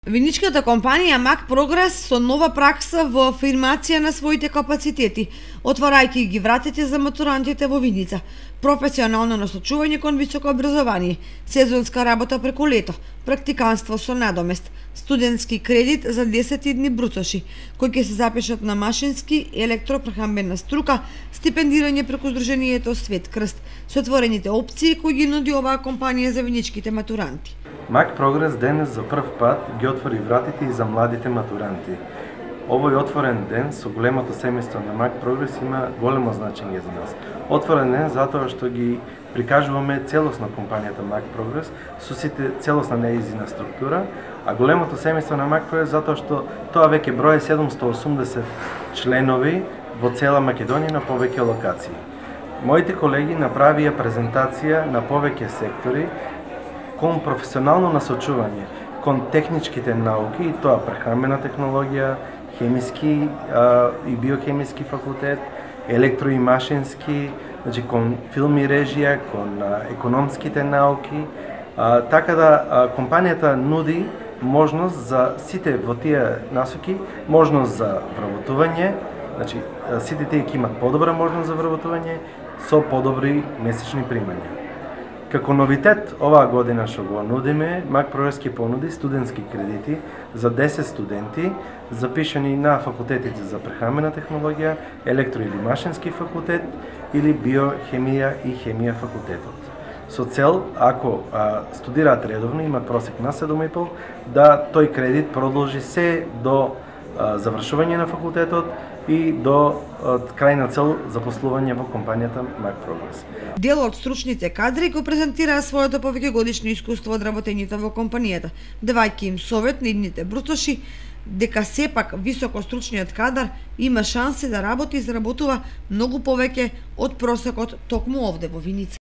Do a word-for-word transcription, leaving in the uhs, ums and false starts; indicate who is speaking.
Speaker 1: Виничката компанија Mac Progress со нова пракса во афирмација на своите капацитети, отварајќи ги вратите за матурантите во Виница, професионално насочување кон високо образование, сезонска работа преку лето, практиканство со надомест, студентски кредит за десет дни брутоши, кои ќе се запишат на машински и електропрехамбена струка, стипендирање преку Сдруженијето Свет Крст, со отворените опции кои ги нуди оваа компанија за виничките матуранти.
Speaker 2: Mac Progress денес за прв пат ги отвори вратите и за младите матуранти. Овој отворен ден со големото семејство на Mac Progress има големо значење за нас. Отворен ден затоа што ги прикажуваме целосно компанијата Mac Progress со сите целосна неизина структура, а големото семејство на Mac Progress затоа што тоа веќе брои седумстотини и осумдесет членови во цела Македонија на повеќе локации. Моите колеги направија презентација на повеќе сектори кон професионално насочување кон техничките науки, и тоа прехранбена технологија, хемиски а, и биохемиски факултет, електро и машински, значи кон филм и режија, кон а, економските науки, а, така да а, компанијата нуди можност за сите во тие насоки, можност за вработување, значи сите тие ќе имат подобра можност за вработување со подобри месечни примања. Како новитет оваа година што го нудиме, Mac Progress ќе понуди студентски кредити за десет студенти запишани на факултетите за прехранбена технологија, електро или машински факултет или биохемија и хемија факултетот. Со цел, ако а, студираат редовно, имат просек на седум и пол, да тој кредит продолжи се до а, завршување на факултетот и до крајна цел запослување во компанијата Mac Progress.
Speaker 1: Дел од стручните кадри го презентираа своето повеќегодишно искуство од работењето во компанијата, давајќи им совет на идните брутоши дека сепак високостручниот кадар има шанси да работи и заработува многу повеќе од просекот токму овде во Виница.